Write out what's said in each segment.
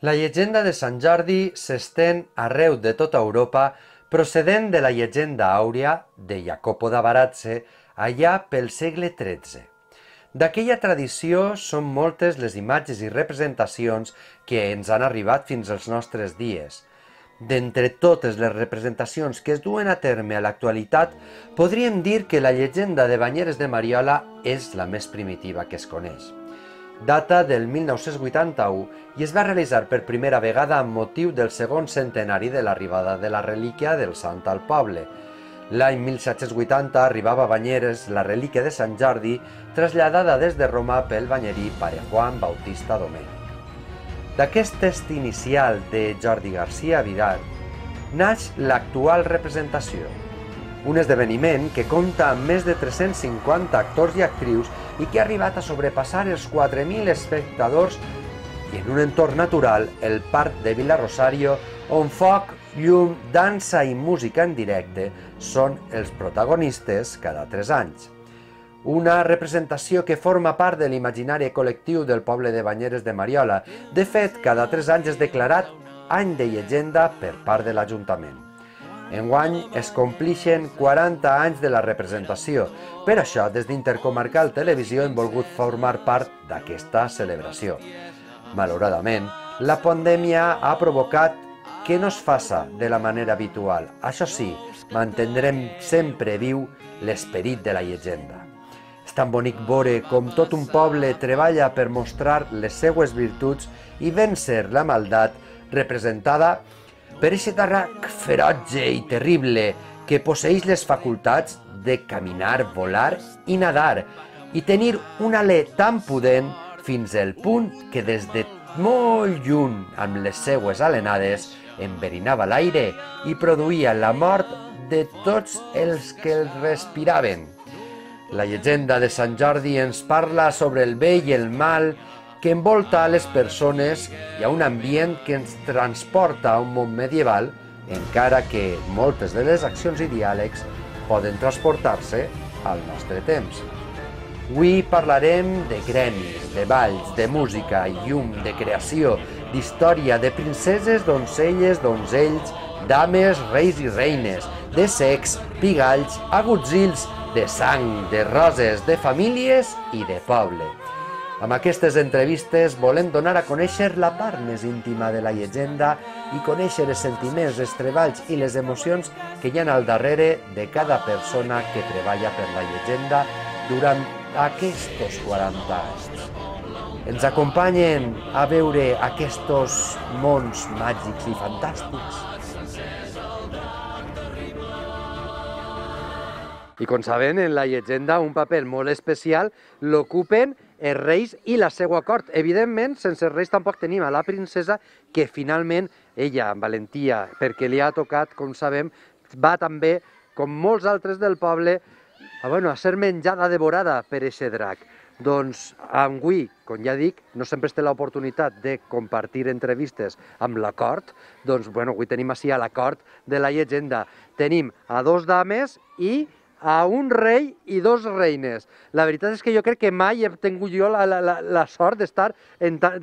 La llegenda de Sant Jordi s'estén arreu de tota Europa, procedent de la llegenda àurea de Jacopo da Varazze allà pel segle XIII. D'aquella tradició són moltes les imatges i representacions que ens han arribat fins als nostres dies. D'entre totes les representacions que es duen a terme a l'actualitat, podríem dir que la llegenda de Banyeres de Mariola és la més primitiva que es coneix. Data del 1981 i es va realitzar per primera vegada amb motiu del segon centenari de l'arribada de la relíquia del sant al poble. L'any 1780 arribava a Banyeres la relíquia de Sant Jordi, traslladada des de Roma pel banyerí pare Juan Bautista Domènech. D'aquest test inicial de Jordi García Vidal naix l'actual representació, un esdeveniment que compta amb més de 350 actors i actrius i que ha arribat a sobrepassar els 4.000 espectadors i en un entorn natural, el Parc de Vila-rosario, on foc, llum, dansa i música en directe són els protagonistes cada 3 anys. Una representació que forma part de l'imaginari col·lectiu del poble de Banyeres de Mariola. De fet, cada 3 anys és declarat any de llegenda per part de l'Ajuntament. Enguany es complixen 40 anys de la representació. Per això, des d'Intercomarcal Televisió hem volgut formar part d'aquesta celebració. Malauradament, la pandèmia ha provocat que no es faça de la manera habitual. Això sí, mantindrem sempre viu l'esperit de la llegenda. És tan bonic veure com tot un poble treballa per mostrar les seues virtuts i vèncer la maldat representada per aquest drac ferotge i terrible que posseeix les facultats de caminar, volar i nadar i tenir un alè tan pudent fins al punt que des de molt lluny amb les seues alenades enverinava l'aire i produïa la mort de tots els que el respiraven. La llegenda de Sant Jordi ens parla sobre el bé i el mal que envolta a les persones i a un ambient que ens transporta a un món medieval, encara que moltes de les accions i diàlegs poden transportar-se al nostre temps. Avui parlarem de gremis, de balls, de música, llum, de creació, d'història, de princeses, doncelles, donzells, dames, reis i reines, de secs, pigalls, agutzils, de sang, de roses, de famílies i de poble. Amb aquestes entrevistes volem donar a conèixer la part més íntima de la llegenda i conèixer els sentiments, els treballs i les emocions que hi ha al darrere de cada persona que treballa per la llegenda durant aquests 40 anys. Ens acompanyen a veure aquests mons màgics i fantàstics. I com sabem, en la llegenda un paper molt especial l'ocupen els reis i la seva cort. Evidentment, sense reis tampoc tenim a la princesa, que finalment ella, amb valentia, perquè li ha tocat, com sabem, va també, com molts altres del poble, a ser menjada, devorada per aquest drac. Doncs avui, com ja dic, no sempre es té l'oportunitat de compartir entrevistes amb la cort, doncs avui tenim així a la cort de la llegenda. Tenim a 2 dames i a un rei i 2 reines. La veritat és que jo crec que mai he tingut jo la sort d'estar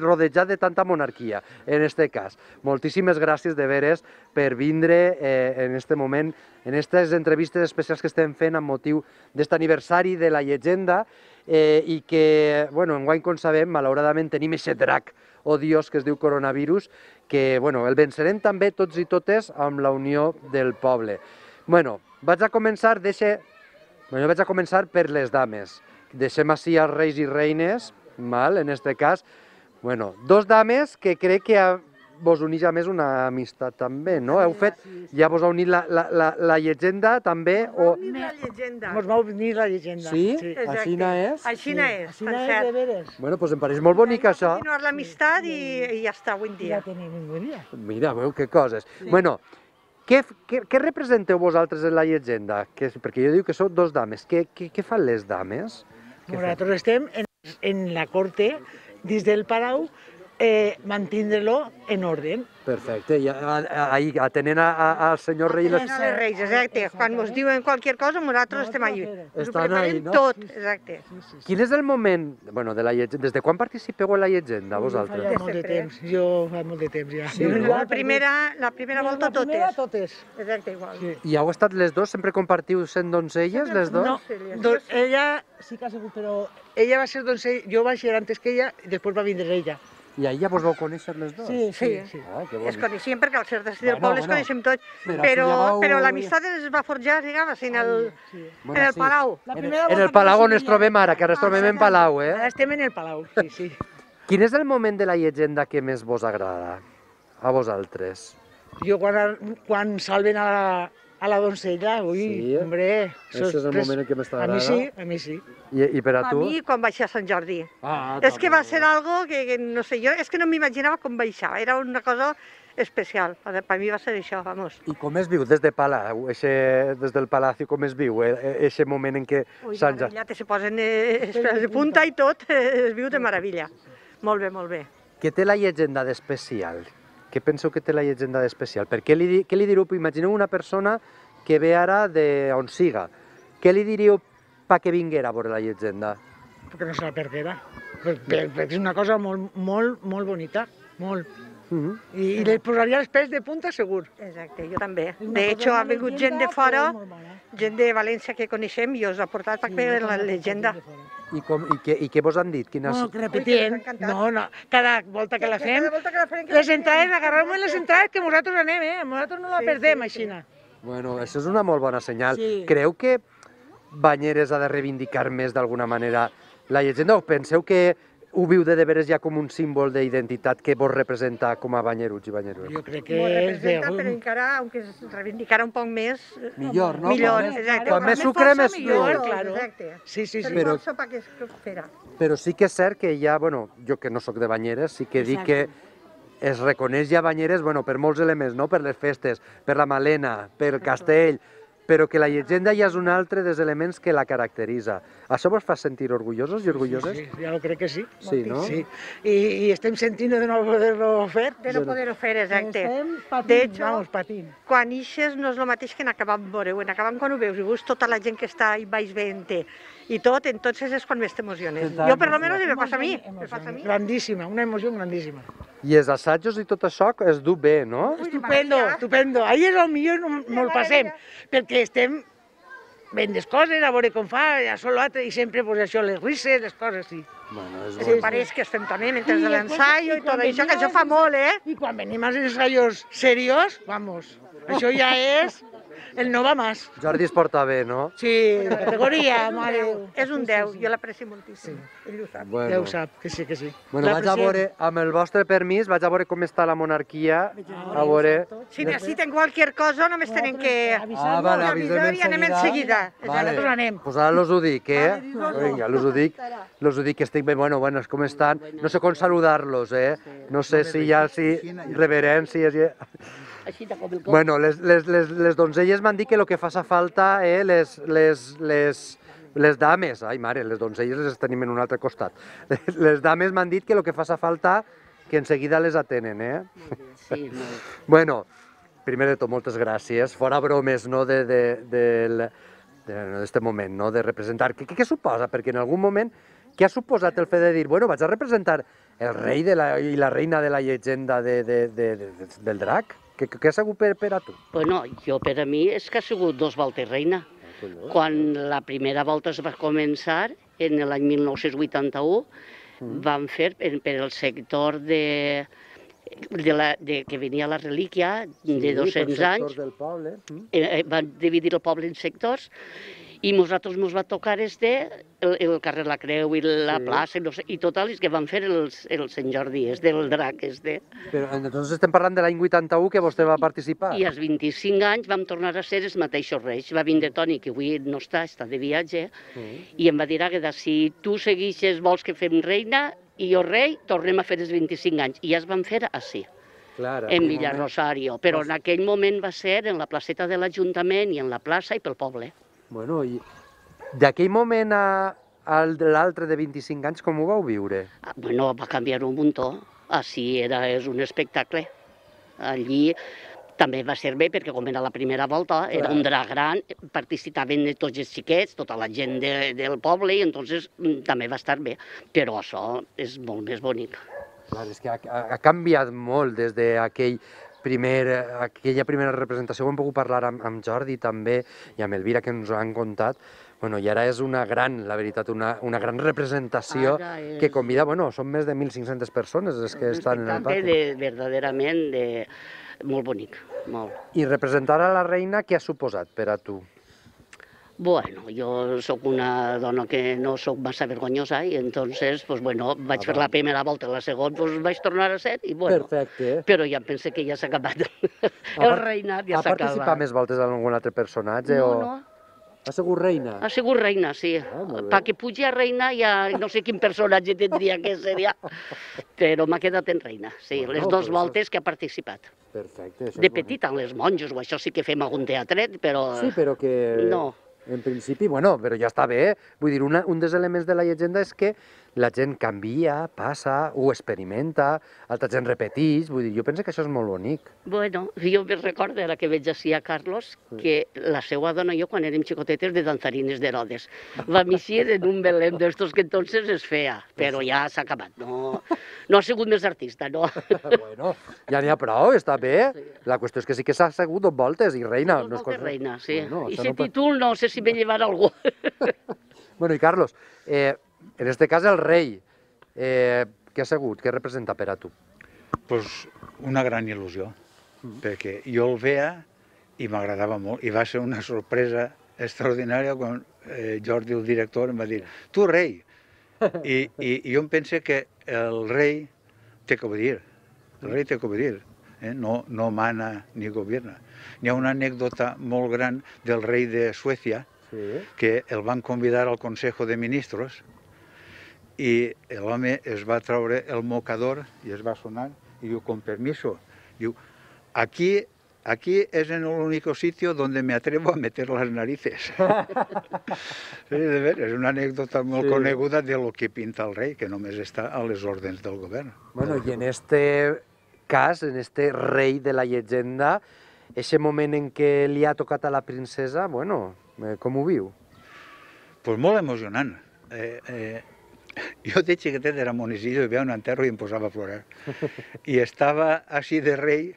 rodejat de tanta monarquia, en aquest cas. Moltíssimes gràcies de veres per vindre en aquest moment, en aquestes entrevistes especials que estem fent amb motiu d'aquest aniversari de la llegenda i que, enguany, com sabem, malauradament tenim aquest drac odiós que es diu coronavirus, que el vencerem també tots i totes amb la unió del poble. Vaig a començar per les dames. Deixem així els reis i reines, en aquest cas. 2 dames que crec que vos uneix a més una amistat també, no? Heu fet, ja vos ha unit la llegenda també? Ens va unir la llegenda. Sí? Aixina és? Aixina és, per cert. de veres. Doncs em pareix molt bonic això. Continuar l'amistat i ja està, avui en dia. Ja tenim un dia. Mira, veu que coses. Què representeu vosaltres en la llegenda? Perquè jo dic que sou 2 dames. Què fan les dames? Nosaltres estem en la corte, dins del palau, mantindre-lo en ordre. Perfecte, i ahí atenent al senyor rei... Atenent als reis, exacte. Quan ens diuen qualsevol cosa, nosaltres estem allà. Ens ho preparem tot, exacte. Quin és el moment, bueno, de la llegenda, des de quan participeu en la llegenda, vosaltres? Fa molt de temps, jo fa molt de temps ja. Sí, no? La primera volta totes. Exacte, igual. I heu estat les dos, sempre compartiu sent doncelles, les dos? No, ella sí que ha sigut, però ella va ser doncella, jo vaig ser antes que ella i després va vindre ella. I ahir ja vos vau conèixer les dues? Sí. Ah, que Es coneixien perquè al ser del poble es coneixem tots, però l'amistat es va forjar, diguem, en el Palau. En el Palau on ens trobem ara, que ara ens trobem en Palau, eh? Ara estem en el Palau, sí. Quin és el moment de la llegenda que més vos agrada a vosaltres? Jo quan salven a la doncella, ui, hombre... Això és el moment en què més t'agrada? A mi sí. I per a tu? A mi quan vaig a Sant Jordi. És que va ser algo que no sé, jo és que no m'imaginava com baixava, era una cosa especial, per mi va ser això, vamos. I com es viu des de Palau, des del Palacio, com es viu, aquest moment en què Sant Jordi... Ui, se posen de punta i tot, es viu de meravella. Molt bé, molt bé. Què té la llegenda d'especial? Què penseu que té la llegenda d'especial? Què li diríeu? Imagineu una persona que ve ara d'on siga. Què li diríeu perquè vinguera a veure la llegenda? Perquè no se la perguera. Perquè és una cosa molt bonita, molt. I li posaria els pèls de punta segur. Exacte, jo també. De hecho, ha vingut gent de fora, gent de València que coneixem i us ha portat per veure la llegenda. I què vos han dit? No, que repetien. No, cada volta que la fem, les entrades, agarrem les entrades que nosaltres anem, nosaltres no la perdem, així. Bueno, això és una molt bona senyal. Creu que Banyeres ha de reivindicar més d'alguna manera la llegenda o penseu que ho viu de veres ja com un símbol d'identitat que vos representa com a banyeruts i banyeruts? Jo crec que és de... Però encara, aunque es reivindicara un poc més... Millor, no? Millor, exacte. Quan més sucre, més millor, claro. Sí. Però sí que és cert que ja, bueno, jo que no sóc de Banyeres, sí que dic que es reconeix ja Banyeres, bueno, per molts elements, no? Per les festes, per la Malena, per el castell, però que la llegenda ja és un altre dels elements que la caracteritza. Això vos fa sentir orgullosos i orgulloses? Sí, ja ho crec que sí. Sí, no? Sí. I estem sentint de no poder-lo fer. De no poder-ho fer, exacte. De hecho, quan ixes no és el mateix que en acabam veure, en acabam quan ho veus i veus tota la gent que està ahí baix veient-te i tot, entonces és quan més t'emociones. Jo per lo menos me passa a mi. Grandíssima, una emoció grandíssima. I els assajos i tot això es du bé, no? Estupendo. Ahí és el millor, no el passem, perquè estem fent les coses, a veure com fa, això l'altre, i sempre pues, això, les risses, les coses, sí. Bueno, és bon. Pareix que estem també mentre de l'ensaio i tot això, que això fa molt, I quan venim als ensaios serios, vamos, això ja és el no va más. Jordi es porta bé, no? Sí, categoria, mare. És un 10, jo l'aprecio moltíssim. Ell ho sap. Ell ho sap, que sí. Bueno, vaig a veure, amb el vostre permís, vaig a veure com està la monarquia, a veure... Si necessiten qualser cosa, només tenen que avisar i anem en seguida. Nosaltres anem. Pues ara us ho dic, Vinga, us ho dic que estic bé, bueno, com estan? No sé com saludar-los, No sé si hi ha reverències... Bueno, les donzelles m'han dit que el que fa falta, les dames, ai mare, les donzelles les tenim en un altre costat. Les dames m'han dit que el que fa falta, que en seguida les atenen, Sí, Bueno, primer de tot, moltes gràcies. Fora bromes, no, d'este moment, no, de representar. Què suposa? Perquè en algun moment, què ha suposat el fet de dir, bueno, vaig a representar el rei i la reina de la llegenda del drac? Què ha sigut per a tu? Bueno, jo per a mi és que ha sigut 2 voltes reina. Quan la primera volta es va començar, en l'any 1981, van fer per el sector que venia la relíquia de 200 anys, van dividir el poble en sectors, i nosaltres ens va tocar el carrer La Creu i la plaça i tot el que van fer el Sant Jordi, del drac. Però entonces estem parlant de l'any 81 que vostè va participar. I als 25 anys vam tornar a ser els mateixos reis. Va vindre Toni, que avui no està de viatge, i em va dir, Àgueda, si tu segueixes, vols que fem reina i jo rei, tornem a fer els 25 anys. I ja es van fer així, en Villa Rosario. Però en aquell moment va ser en la placeta de l'Ajuntament i en la plaça i pel poble. Bueno, i d'aquell moment a l'altre de 25 anys, com ho vau viure? Bueno, va canviar un muntó. així és un espectacle. Allí també va ser bé perquè com era la primera volta, era un drac gran, participaven tots els xiquets, tota la gent del poble, i entonces també va estar bé. Però això és molt més bonic. Clar, és que ha canviat molt des d'aquella primera representació, ho hem pogut parlar amb Jordi també i amb Elvira, que ens ho han contat. Bueno, i ara és una gran, la veritat, una gran representació que convida, bueno, són més de 1.500 persones les que estan en el pati. Un espectacle verdaderament molt bonic, molt. I representar a la reina, què ha suposat per a tu? Bueno, jo sóc una dona que no sóc massa vergonyosa i entonces, pues bueno, vaig fer la primera volta, la segona pues vaig tornar a ser i bueno. Perfecte. Però ja pensé que ja s'ha acabat. El reinat ja s'ha acabat. Ha participat més voltes en algun altre personatge? No. Ha sigut reina? Ha sigut reina, sí. Perquè pugi a reina ja no sé quin personatge tindria que ser ja. Però m'ha quedat en reina, sí. Les dues voltes que ha participat. Perfecte. De petita, en les monjos, o això sí que fem algun teatret, però... Sí, però que... No. En principi, bueno, però ja està bé. Vull dir, un dels elements de la llegenda és que la gent canvia, passa, ho experimenta, altra gent repeteix, vull dir, jo penso que això és molt bonic. Bueno, jo me recordo, ara que veig així a Carlos, que la seva dona i jo, quan érem xicotetes, de danzarines d'Herodes. Vam eixir en un Belém d'estos que entonces es feia, però ja s'ha acabat, no ha sigut més artista, no. Bueno, ja n'hi ha prou, està bé. La qüestió és que sí que s'ha assegut 2 voltes i reina. Dos voltes reina, sí. I aquest títol no sé si me llevarà algú. Bueno, i Carlos, en este cas el rei, què ha sigut? Què representa per a tu? Pues una gran il·lusió, perquè jo el veia i m'agradava molt, i va ser una sorpresa extraordinària quan Jordi, el director, em va dir «Tu, rei!» I jo em penso que el rei té que obedir, el rei té que obedir, no mana ni gobierna. Hi ha una anècdota molt gran del rei de Suècia, que el van convidar al Consejo de Ministros i l'home es va treure el mocador i es va sonar i diu, con permiso, diu, aquí es en el único sitio donde me atrevo a meter las narices. Sí, de veres, és una anècdota molt coneguda de lo que pinta el rei, que només està a les ordres del govern. Bueno, i en este cas, en este rei de la llegenda, ese moment en què li ha tocat a la princesa, bueno, com ho viu? Pues molt emocionant. Jo de xiquetet era monicillo i veia un enterro i em posava a plorar. I estava així de rei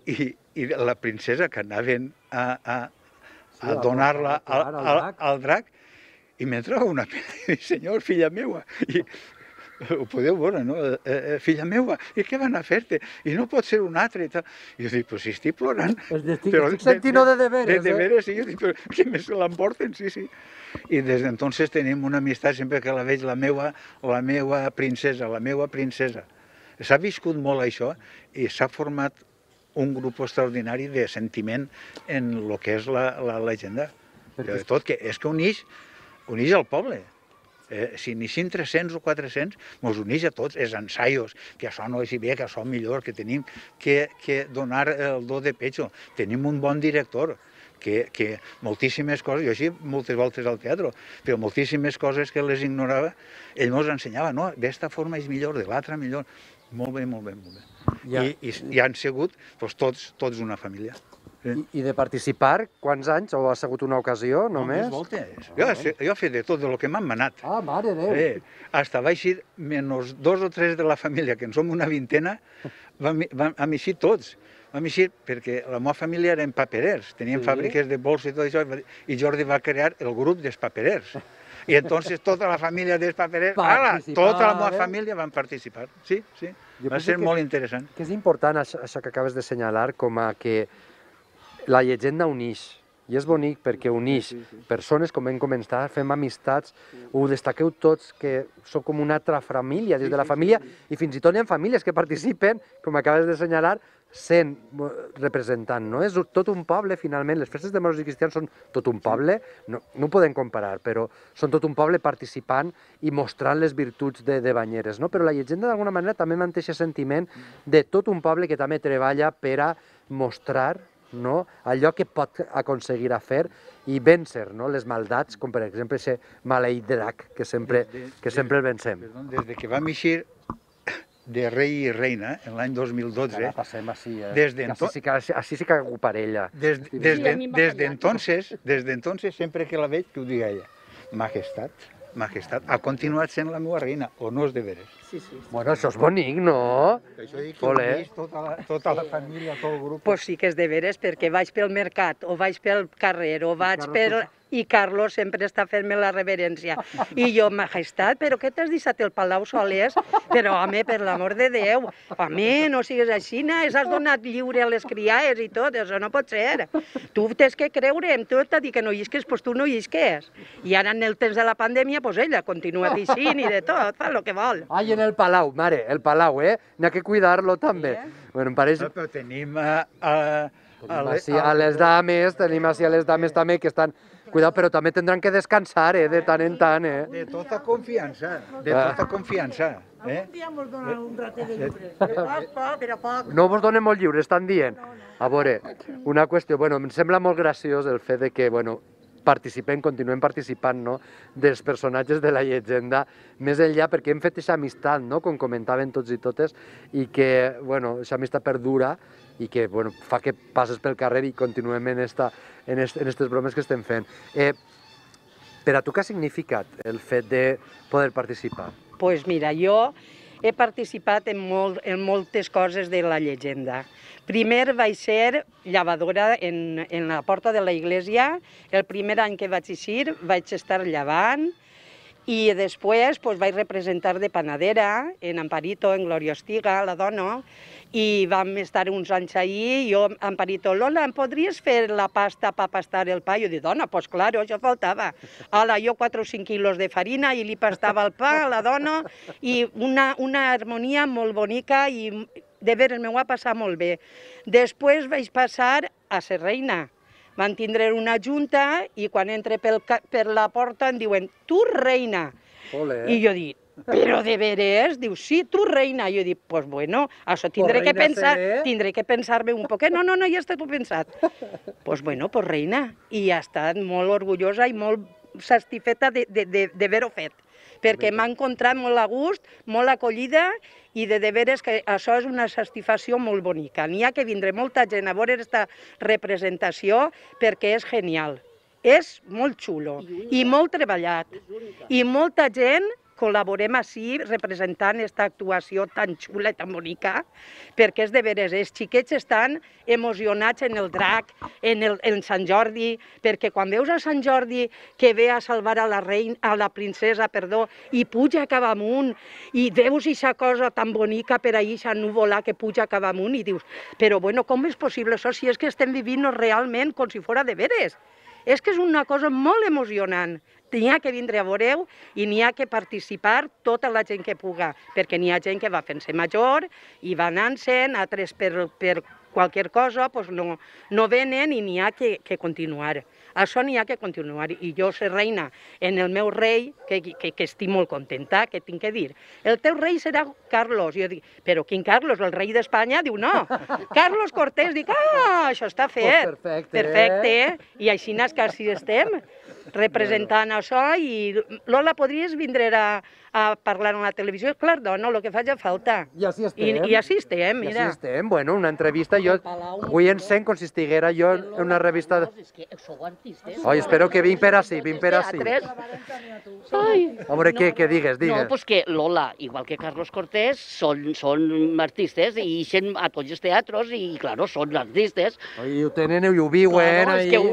i la princesa que anaven a donar-la al drac i m'entrava una pena i dic, senyor, filla meua, i ho podeu veure, no? Filla meua, i què van a fer-te? I no pot ser un altre i tal. I jo dic, però si estic plorant. Estic sentint-ho de veres, De veres, sí. Jo dic, però que me se l'emporten, sí. I des d'entonces tenim una amistat, sempre que la veig, la meua princesa, la meua princesa. S'ha viscut molt això i s'ha format un grup extraordinari de sentiment en el que és la llegenda. De tot, que és que uneix el poble. Si n'hi 300 o 400, ens uneix a tots, els ensaios, que això no és bé, que això millor, que tenim que donar el do de pecho. Tenim un bon director, que moltíssimes coses, jo així moltes voltes al teatre, però moltíssimes coses que les ignorava, ell ens ensenyava, no, d'esta forma és millor, de l'altra millor. Molt bé. I han sigut tots una família. I de participar, quants anys? O ha sigut una ocasió, només? Més voltes. Jo he fet de tot, de lo que m'han manat. Ah, mare Déu! Hasta vaig ir, menys 2 o 3 de la família, que en som una vintena, vam eixir tots. Vam eixir perquè la meva família eren paperers, tenien fàbriques de bols i tot això, i Jordi va crear el grup dels paperers. I entonces tota la família dels paperers, tota la meva família van participar. Sí. Va ser molt interessant. Que és important això que acabes de assenyalar, com a que la llegenda uneix. I és bonic perquè uneix persones, com hem comentat, fem amistats, ho destaqueu tots, que sou com una altra família, des de la família, i fins i tot hi ha famílies que participen, com acabes d'assenyalar, sent representant, no? És tot un poble, finalment, les festes de moros i cristians són tot un poble, no ho podem comparar, però són tot un poble participant i mostrant les virtuts de Banyeres, no? Però la llegenda, d'alguna manera, també manté aquest sentiment de tot un poble que també treballa per a mostrar allò que pot aconseguir a fer i vèncer les maldats, com per exemple aquest maleït drac que sempre el vencem. Des que vam eixir, de rei i reina, en l'any 2012. Ara passem així, així sí que hago parella. Desde entonces, sempre que la veig, que ho diga ella, majestat, ha continuat sent la meva reina, o no és de veres? Sí. Bueno, això és bonic, no? Això dic que ho he vist tota la família, tot el grup. Pues sí que és de veres, perquè vaig pel mercat, o vaig pel carrer, o vaig per... I Carlos sempre està fent-me la reverència. I jo, majestat, però què t'has deixat el palau solers? Però, home, per l'amor de Déu, home, no sigues així, has donat lliure a les criades i tot, això no pot ser. Tu tens que creure en tot, a dir que no llisques, doncs tu no llisques. I ara en el temps de la pandèmia, doncs ella continua dixint i de tot, fa el que vol. Ai, en el palau, mare, el palau, n'hi ha que cuidar-lo també. Bueno, em pareix... Però tenim a les dames, també, que estan... Cuidado, però també tindran que descansar, de tant en tant, De tota confiança, Algun dia mos donen un ratet de lliure, però poc. No vos donen molt lliure, estan dient. A veure, una qüestió, bueno, em sembla molt graciós el fet de que, bueno, continuem participant, no?, dels personatges de la llegenda, més enllà perquè hem fet aquesta amistat, no?, com comentaven tots i totes, i que, bueno, aquesta amistat perdura i que, bueno, fa que passes pel carrer i continuem en aquestes bromes que estem fent. Per a tu què ha significat el fet de poder participar? Doncs mira, jo he participat en moltes coses de la llegenda. Primer vaig ser llavadora en la porta de la iglesia. El primer any que vaig eixir vaig estar llavant i després vaig representar de panadera en Amparito, en Gloria Ostiga, la dona, i vam estar uns anys allí, jo, Amparito, Lola, em podries fer la pasta per pastar el pa? Jo dic, dona, doncs clar, això faltava. Hola, jo 4 o 5 quilos de farina i li pastava el pa a la dona i una harmonia molt bonica i de veres m'ho va passar molt bé. Després vaig passar a ser reina. Van tindre una junta i quan entre per la porta em diuen, tu reina. I jo dic, però de veres? Diu, sí, tu reina. Jo dic, doncs bueno, això tindré que pensar-me un poquet. No, ja està tot pensat. Doncs bueno, reina. I ha estat molt orgullosa i molt satisfeta d'haver-ho fet, perquè m'ha encontrat molt a gust, molt acollida i de veres que això és una satisfacció molt bonica. N'hi ha que vindre molta gent a veure aquesta representació perquè és genial. És molt xulo i molt treballat i molta gent col·laborem així representant aquesta actuació tan xula i tan bonica, perquè és de veres, els xiquets estan emocionats en el drac, en Sant Jordi, perquè quan veus a Sant Jordi que ve a salvar a la princesa, i puja cap amunt, i veus aquesta cosa tan bonica per ahir, aquesta núvola que puja cap amunt, i dius, però bueno, com és possible això si és que estem vivint realment com si fos de veres? És que és una cosa molt emocionant. N'hi ha que vindre a veure-ho i n'hi ha que participar tota la gent que puga, perquè n'hi ha gent que va fent-se major i va anant-se'n, altres per qualsevol cosa no venen i n'hi ha que continuar. Això n'hi ha que continuar. I jo ser reina en el meu rei, que estic molt contenta, que tinc que dir. El teu rei serà Carlos. Jo dic, però quin Carlos? El rei d'Espanya? Diu, no. Carlos Cortés. Dic, això està fet. Perfecte. I així que estem representant això i Lola, podries vindre a parlar a la televisió? Clar, dona, el que faci falta. I així estem. I així estem, mira. I així estem, bueno, una entrevista, jo avui em sent com si estiguera jo en una revista... Sou artistes. Oi, espero que vinc per ací, A veure, què digues? No, doncs que Lola, igual que Carlos Cortés, són artistes i ixen a tots els teatres i, clar, són artistes. I ho tenen i ho viuen. Claro, és que ho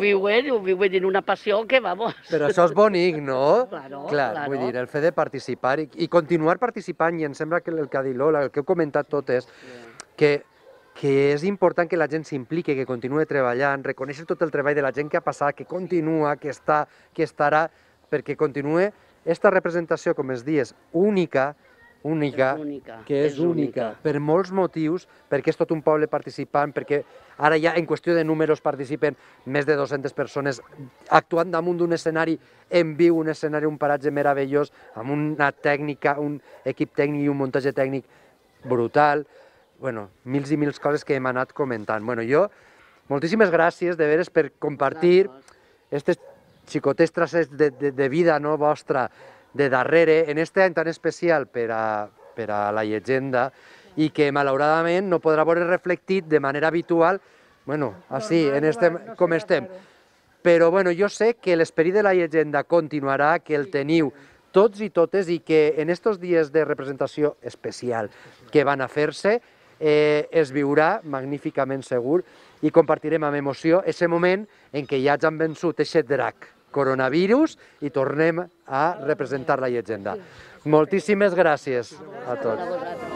viuen en una passió que, vamos... Però això és bonic, no? Clar. Vull dir, el fet de participar i continuar participant, i em sembla que el que ha dit Lola, el que heu comentat totes, que és important que la gent s'impliqui, que continuï treballant, reconèixer tot el treball de la gent que ha passat, que continua, que estarà, perquè continuï aquesta representació, com es dius, única, que és única, per molts motius, perquè és tot un poble participant, perquè ara ja en qüestió de números participen més de 200 persones actuant damunt d'un escenari en viu, un escenari, un paratge meravellós, amb una tècnica, un equip tècnic i un muntatge tècnic brutal. Bueno, mils i mils coses que hem anat comentant. Bueno, jo, moltíssimes gràcies de veres per compartir aquestes xicotes traces de vida vostra de darrere, en este any tan especial per a per a la llegenda i que malauradament no podrà veure reflectit de manera habitual, així, com estem. Però jo sé que l'esperit de la llegenda continuarà, que el teniu tots i totes i que en aquests dies de representació especial que van a fer-se es viurà magníficament segur i compartirem amb emoció aquest moment en què ja han vençut aquest drac coronavirus i tornem a representar la llegenda. Moltíssimes gràcies a tots.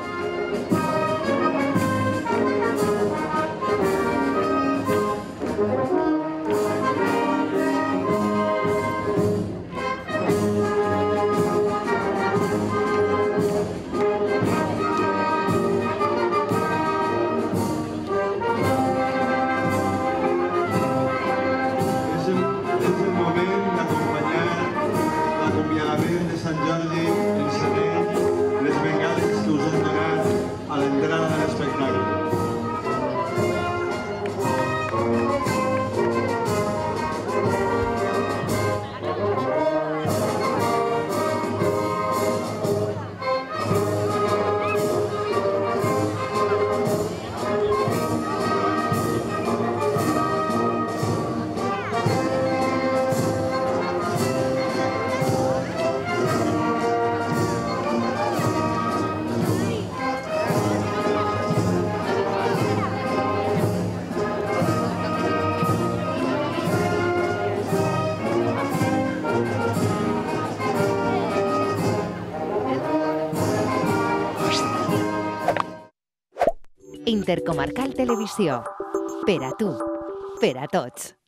Intercomarcal Televisió. Per a tu, per a tots.